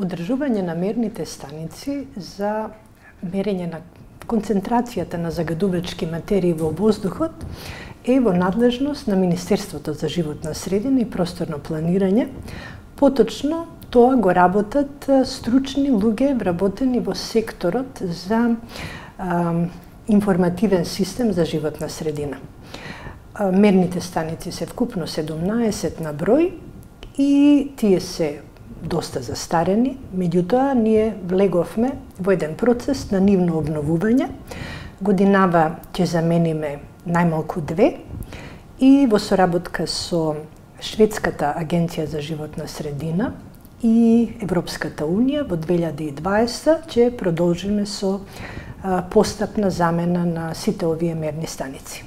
одржување на мерните станици за мерење на концентрацијата на загадувачки материи во воздухот е во надлежност на Министерството за животна средина и просторно планирање. Поточно, тоа го работат стручни луѓе вработени во секторот за информативен систем за животна средина. Мерните станици се вкупно 17 на број и тие се доста застарени, меѓутоа ние влеговме во еден процес на нивно обновување. Годинава ќе замениме најмалку 2 и во соработка со Шведската агенција за животна средина и Европската унија во 2020 ќе продолжиме со постапна замена на сите овие мерни станици.